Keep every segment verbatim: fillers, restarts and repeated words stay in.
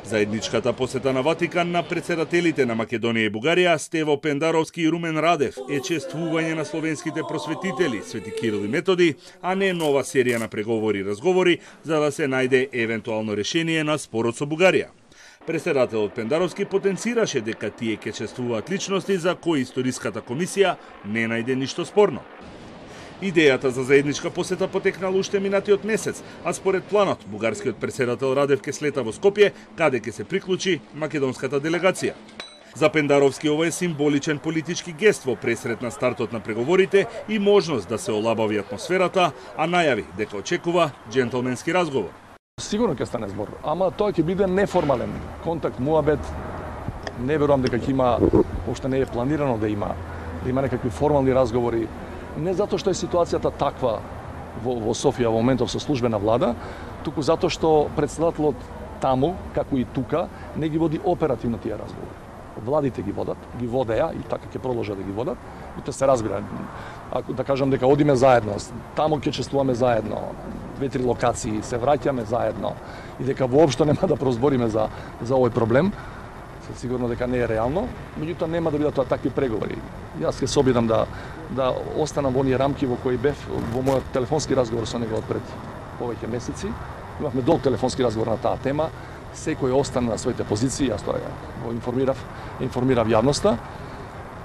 Заедничката посета на Ватикан на председателите на Македонија и Бугарија Стево Пендаровски и Румен Радев е чествување на словенските просветители Свети Кирил и Методи, а не нова серија на преговори и разговори за да се најде евентуално решение на спорот со Бугарија. Председателот Пендаровски потенцираше дека тие ќе чествуваат личности за кои историската комисија не најде ништо спорно. Идејата за заедничка посета потекнала уште минатиот месец, а според планот, бугарскиот председател Радев ќе слета во Скопје, каде ќе се приклучи македонската делегација. За Пендаровски ова е символичен политички гест во пресрет на стартот на преговорите и можност да се олабави атмосферата, а најави дека очекува џентлменски разговор. Сигурно ќе стане збор, ама тоа ќе биде неформален контакт, муабет. Не верувам дека ќе има, уште не е планирано да има, да има некакви формални разговори. Не затоа што е ситуацијата таква во, во Софија во моментов со службена влада, туку затоа што председателот таму, како и тука, не ги води оперативно тие разговори. Владите ги водат, ги водеа и така ќе продолжат да ги водат. И тоа се разбира. Ако да кажам дека одиме заедно, таму ќе чествуваме заедно, две-три локации, се враќаме заедно и дека воопшто нема да прозбориме за за овој проблем. Сигурно дека не е реално, меѓутоа нема да бидат тоа такви преговори. Јас ќе се обидам да да останам во оние рамки во кои бев во мојот телефонски разговор со него од пред повеќе месеци. Имавме долг телефонски разговор на таа тема. Секој остана на своите позиции, јас тоа го информирав, информирав јавноста.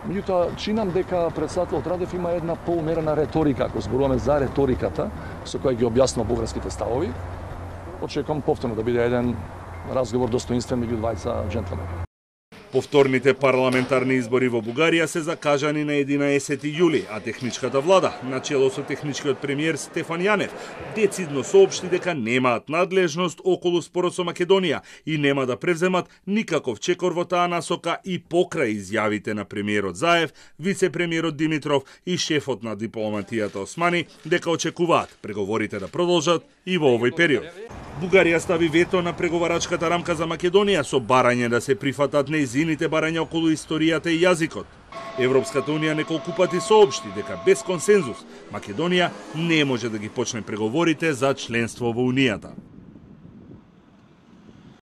Меѓутоа чинам дека председателот Радев има една поумерена реторика, ако зборуваме за реториката со која ги објаснува бугарските ставови. Очекувам повторно да биде еден разговор достоинствен меѓу двајца џентлмени. Повторните парламентарни избори во Бугарија се закажани на единаесети јули, а техничката влада, начело со техничкиот премиер Стефан Јанев, децидно соопшти дека немаат надлежност околу спорот со Македонија и нема да превземат никаков чекор во таа насока и покрај изјавите на премиерот Заев, вице-премиерот Димитров и шефот на дипломатијата Османи дека очекуваат преговорите да продолжат и во овој период. Бугарија стави вето на преговарачката рамка за Македонија со барање да се прифатат нејзините барања околу историјата и јазикот. Европската унија неколку пати соопшти дека без консензус Македонија не може да ги почне преговорите за членство во унијата.